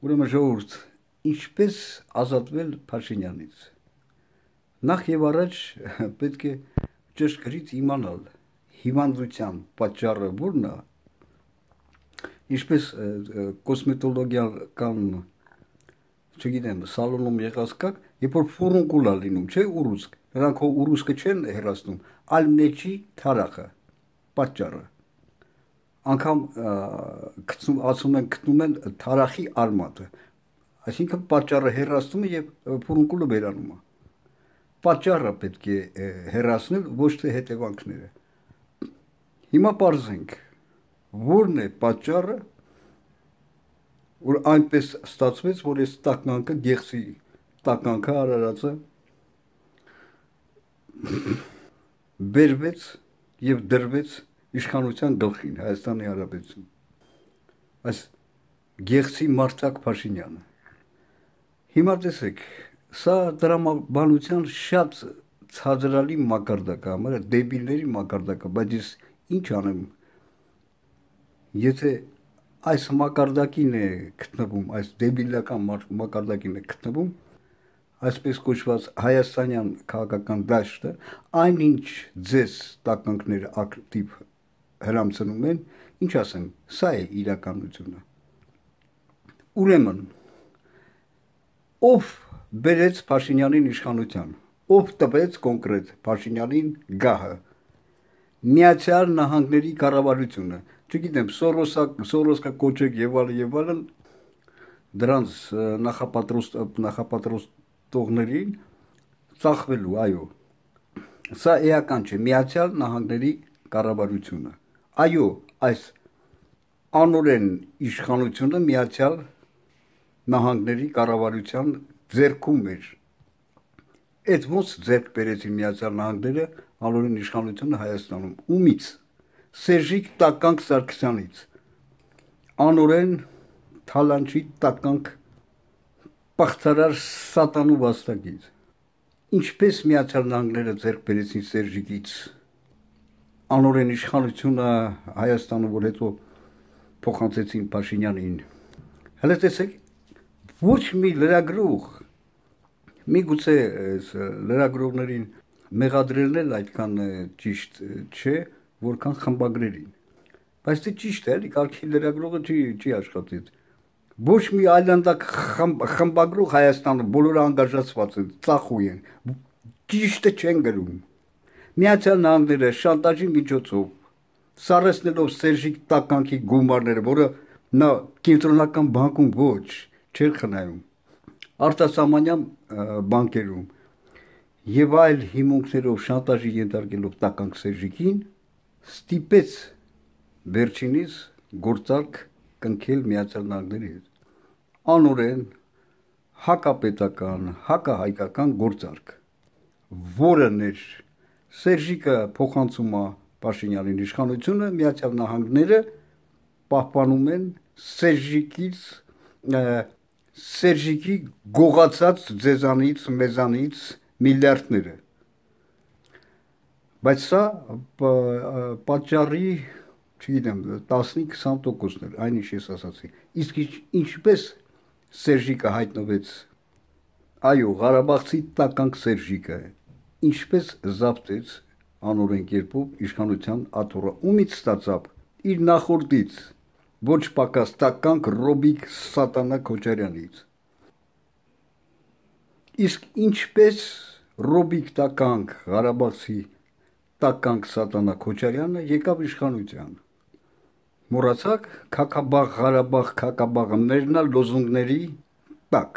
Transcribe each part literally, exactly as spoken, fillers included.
Ուրեմն ժողովուրդ, ինչպես ազատվել Փաշինյանից։ Նախ եւ առաջ պետք է ճշգրիտ իմանալ հիվանդության պատճառը որն է, ինչպես կոսմետոլոգիական, չգիտեմ, սալոնում եղած կակ, երբ որ ֆուրունկուլ է լինում, չէ, ուռուցք, նրանք հո ուռուցքը չեն հեռացնում, այլ մեջի թարախը, պատճառը։ Անգամ ասում են գտնում են թարախի արմատը, այսինքն պատճառը հեռացնում է եւ ֆուրունկուլը վերանում է։ Պատճառը պետք է հեռացնել, ոչ թե հետևանքները։ Հիմա պարզենք, որն է պատճառը, որ այնպես ստացվեց, որ այս տականքը գեղցի տականքը արարածը բերվեց եւ դրվեց իշխանության գլխին Հայաստանի Հանրապետություն։ Այս գեղցի Մարտակ Փաշինյանը։ Հիմա տեսեք, սա դրամաբանության շատ ցածրալի մակարդակ է, համարը դեբիլների մակարդակ է, բայց ես ինչ անեմ, եթե այս մակարդակին է գտնվում, այս դեբիլական մակարդակին է գտնվում, այսպես կոչված հայաստանյան քաղաքական դաշտը, այնինչ ձեզ տականքները ակտիվ հրամցնում են, ինչ ասեմ, սա է իրականությունը։ Ուրեմն, ով բերեց Փաշինյանին իշխանության, ով տվեց կոնկրետ Փաշինյանին գահը, Միացյալ Նահանգների կառավարությունը, չգիտեմ, Սորոսկա կոչեք եւ այլն եւ այլն, դրանց նախապատրաստողներին ծախվելու, այո, սա էական չէ, Միացյալ Նահանգների կառավարությունը, այո, այս անօրեն իշխանությունը Միացյալ Նահանգների կառավարության ձեռքում էր, այդ ոնց ձեռք բերեցին Միացյալ Նահանգները անօրեն իշխանությունը Հայաստանում, ումից, Սերժիկ Տականք Սարգսյանից, անօրեն թալանչի տականք պախտարար սատանու վաստակից, ինչպես Միացյալ Նահանգները ձեռք բերեցին Սերժիկից, անօրեն իշխանությունը Հայաստանում, որ հետո փոխանցեցին Փաշինյանին, հələ տեսեք, ոչ մի լրագրող, միգուցե լրագրողներին մեղադրելն էլ այդքան ճիշտ չէ, որքան խմբագրերին, բայց դե ճիշտ է, էլի, կարգի լրագրողը չի աշխատել, ոչ մի այլանդակ խմբագրող Հայաստանը բոլորը անգաժացված են, ծախու են, ճիշտը չեն գրում, Միացյալ Նահանգները շանտաժի միջոցով, սառեցնելով Սերժիկ Տականքի գումարները, որը նա կենտրոնական բանկում ոչ, չէր խնայում, արտասահմանյան բանկերում եւ այլ հիմունքներով շանտաժի ենթարկելով Տականք Սերժիկին, ստիպեց վերջինիս գործարք կնքել Միացյալ Նահանգների հետ, անօրեն հակապետական, հակահայկական գործարք, որն էր Սերժիկը փոխանցում է Փաշինյանին իշխանությունը, Միացյալ Նահանգները պահպանում են Սերժիկից, Սերժիկի գողացած ձեզանից, մեզանից միլիարդները, բայց սա պատճառի, չգիտեմ, տասնի-քսան տոկոսն էր, այն ինչ ես ասացի, իսկ ինչպես Սերժիկը հայտնվեց, այո, Ղարաբաղցի Տականք Սերժիկը, ինչպես զավթեց անօրեն կերպով իշխանության աթոռը, ումից ստացավ իր նախորդից, ոչ պակաս Տականք Ռոբիկ Սատանա Քոչարյանից, իսկ ինչպես Ռոբիկ Տականք Ղարաբաղցի Տականք Սատանա Քոչարյանը եկավ իշխանության, մոռացաք Քաքաբաղ Ղարաբաղ Քաքաբաղը մերնա լոզունգների տակ,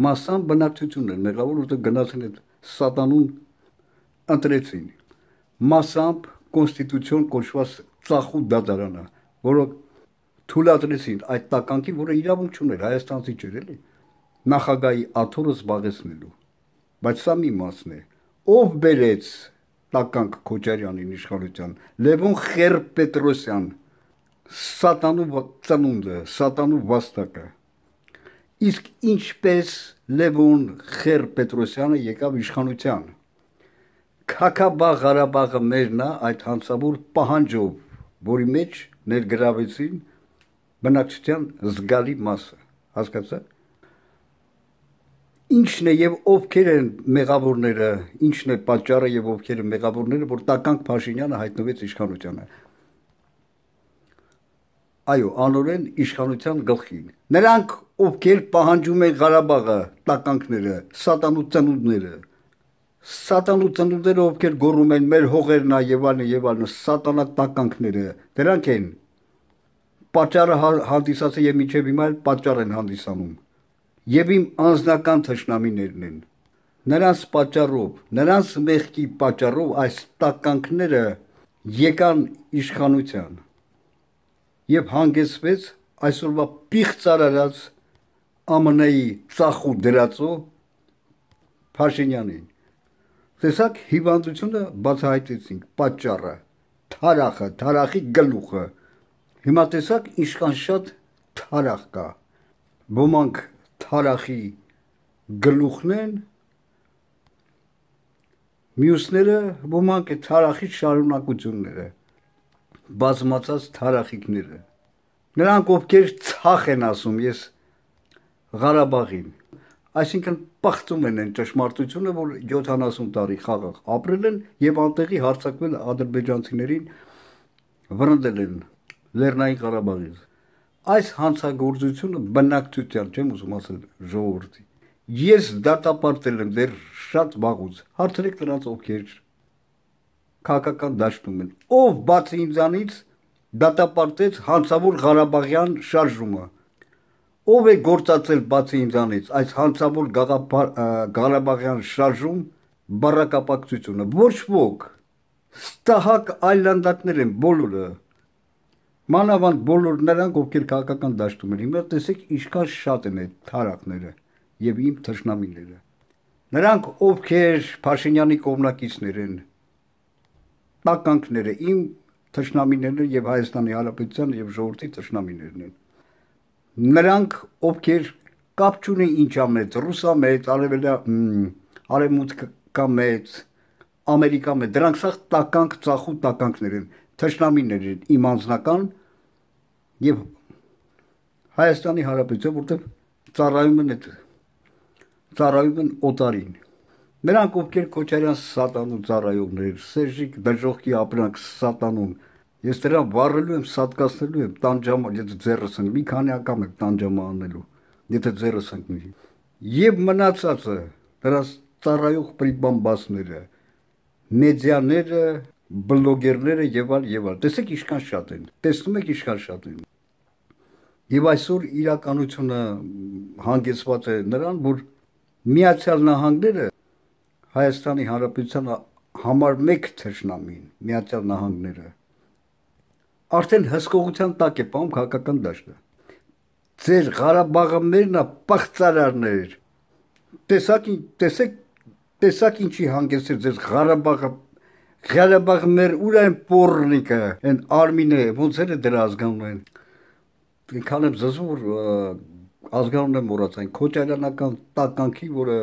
մասամբ բնակչությունն էր մեղավոր, որտեղ գնացին այդ սատանուն ընտրեցին, մասամբ կոնստիտուցիոն կոչված ծախու դատարանը, որը թույլատրեցին այդ տականքի, որը իրավունք չուներ, հայաստանցի չէր, էլի, նախագահի աթոռը զբաղեցնելու, բայց սա մի մասն է, ով բերեց Տականք Քոչարյանին իշխանության, Լևոն Խեր-Պետրոսյան, սատանու ծնունդը, սատանու վաստակը, իսկ ինչպես Լևոն Խեր-Պետրոսյանը եկավ իշխանության, Քաքաբաղ Ղարաբաղը մերն է այդ հանցավոր պահանջով, որի մեջ ներգրավեցին բնակչության զգալի մասը, հասկացա՞ք։ Ինչն է եւ ովքեր են մեղավորները, ինչն է պատճառը եւ ովքեր են մեղավորները, որ Տականք Փաշինյանը հայտնվեց իշխանությանը։ Այո, անորեն իշխանության գլխին։ Նրանք, ովքեր պահանջում են Ղարաբաղը, տականքները, սատանու ծնունդները, սատանու ծնունդները, ովքեր գոռում են մեր հողերն ա եւ այլն եւ այլն, սատանա տականքները, դրանք են պատճառը հանդիսացել եւ մինչեւ հիմա էլ պատճառ են հանդիսանում։ Եվ իմ անձնական թշնամիներն են։ Նրանց պատճառով, նրանց մեղքի պատճառով այս տականքները եկան իշխանության եւ հանգեցվեց այսօրվա պիղծ արարած Է Մ Ն-ի ծախու դրածո Փաշինյանին։ Տեսակ հիվանդությունը բացահայտեցինք, պատճառը, թարախը, թարախի գլուխը։ Հիմա տեսակ ինչքան շատ թարախ կա։ Ոմանք թարախի գլուխն են, մյուսները ոմանք է թարախի շարունակությունները, բազմացած թարախիկները։ Նրանք ովքեր ցախ են ասում, ես Ղարաբաղին, այսինքն պղծում են այն ճշմարտությունը, որ յոթանասուն տարի խաղաղ ապրել են եւ անտեղի հարձակվել ադրբեջանցիներին վրընդել են Լեռնային Ղարաբաղից։ Այս հանցագործությունը բնակչության, չեմ ուզում ասել ժողովրդի։ Ես դատապարտել եմ դեռ շատ վաղուց։ Հարցրեք նրանց, ովքեր քաղաքական դաշտում են։ Ով բացի ինձանից դատապարտեց հանցավոր Ղարաբաղյան շարժումը։ Ով է գործածել բացի ինձանից այս հանցավոր Ղարաբաղյան շարժում բառակապակցությունը։ Ոչ ոք։ Ստահակ այլանդակներ են բոլորը։ Մանավանդ բոլոր նրանք, ովքեր քաղաքական դաշտում են, հիմա տեսեք ինչքան շատ են այդ թարախները եւ իմ թշնամիները։ Նրանք, ովքեր Փաշինյանի կողմնակիցներ են, տականքները, իմ թշնամիներն եւ Հայաստանի Հանրապետության եւ ժողովրդի թշնամիներն են։ Նրանք, ովքեր կապ չունեն ինչա մեծ, ռուսա մեծ, արևմուտքա մեծ, Ամերիկա մեծ, դրանք սա տականք, ծախու տականքներ են, թշնամիներ են, իմ անձնական եւ Հայաստանի Հանրապետության, որտեղ ծառայում են այդ ծառայում են օտարին։ Նրանք, ովքեր Քոչարյան սատանու ծառայողներ, Սերժիկ դժողքի ապրանք սատանուն, ես դրան վառելու եմ, սատկացնելու եմ, տանջամա, եթե ձեռս ընկնի, մի քանի անգամ եմ տանջամա անելու, եթե ձեռս ընկնի։ Եվ մնացածը, դրանց ծառայող պրիբամբասները, մեդիաները, բլոգերները եւ այլ եւ այլ։ Տեսեք ինչքան շատ են։ Տեսնում եք ինչքան շատ են։ Եվ այսօր իրականությունը հանգեցված է նրան, որ Միացյալ Նահանգները Հայաստանի Հանրապետության համար մեկ թշնամին, Միացյալ Նահանգները արդեն հսկողության տակ է պահում քաղաքական դաշտը։ Ձեր Ղարաբաղը մերն է, պղծարարներ։ Տեսակ տեսեք տեսակ ինչի հանգեցրեց ձեր Ղարաբաղը Ղարաբաղը մեր ուր են պորնիկը, այն Արմինը, ոնց է դրա ազգանուն։ Ինքան եմ զզում, որ ազգանուն եմ մոռաց, այն Քոչարյանական տականքի, որը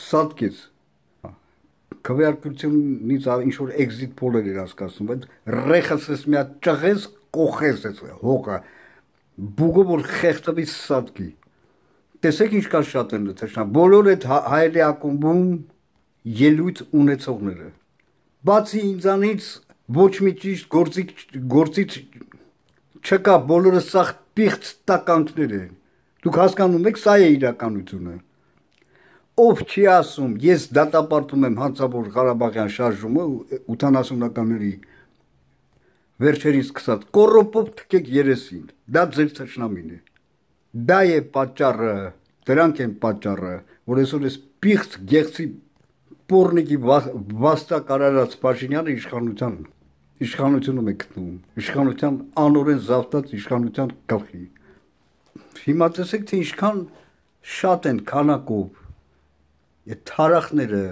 սատկեց քվեարկությունից ինչ որ էքզիտ փոլեր էր հասկացնում, այդ ռեխսես մի հատ ճղես, կոխես էս հողը, բուգը որ խեղտվի սատկի։ Տեսեք ինչքան շատ են թշնամ, բոլոր այդ հայերի ակումբում ելույթ ունեցողները։ Բացի ինձանից ոչ մի ճիշտ գործիք գործիչ չկա, բոլորը սա պիղծ տականքներ են։ Դուք հասկանում եք, սա է իրականությունը։ Ով չի ասում, ես դատապարտում եմ հանցավոր Ղարաբաղյան շարժումը ութանասունականների վերջերից սկսած, կոռոպով թքեք երեսին, դա ձեր թշնամին է։ Դա է պատճառը, դրանք են պատճառը, որ այսօր այս պիղծ գեղցի պորնիկի վաստակ արարած Փաշինյանը իշխանության իշխանությունում է գտնվում, իշխանության անօրեն զավթած իշխանության գլխի։ Հիմա տեսեք, թե ինչքան շատ են քանակով այդ թարախները,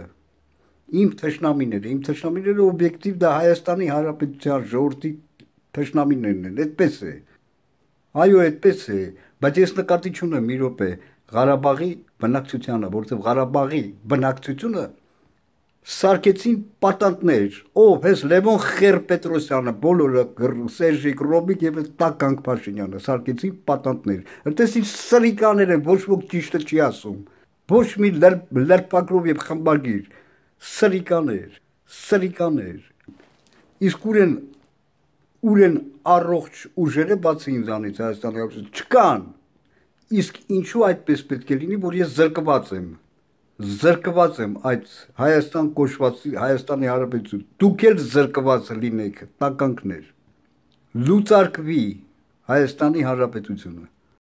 իմ թշնամիները, իմ թշնամիները օբյեկտիվ դա Հայաստանի Հանրապետության ժողովրդի թշնամիներն են, այդպես է։ Այո, այդպես է, բայց ես նկատի չունեմ մի րոպե Ղարաբաղի բնակչությանը, որովհետև Ղարաբաղի բնակչությունը Սարքեցին պատանտներ, ով հես Լևոն Խեր-Պետրոսյանը, բոլորը Սերժիկ Ռոբիկ եւ Տականք Փաշինյանը սարքեցին պատանտներ։ Այդտեսին սրիկաներ են, ոչ ոք ճիշտը չի ասում։ Ոչ մի լրպակրով եւ խմբագիր, սրիկաներ, սրիկաներ։ Իսկ ուր են ուր են առողջ ուժերը բացի ինձանից Հայաստանի Հանրապետություն չկան։ Իսկ ինչու այդպես պետք է լինի, որ ես զրկված եմ։ Զրկված եմ այդ Հայաստան կոչված Հայաստանի Հանրապետություն։ Դուք էլ զրկված լինեք, տականքներ։ Լուծարկվի Հայաստանի Հանրապետությունը։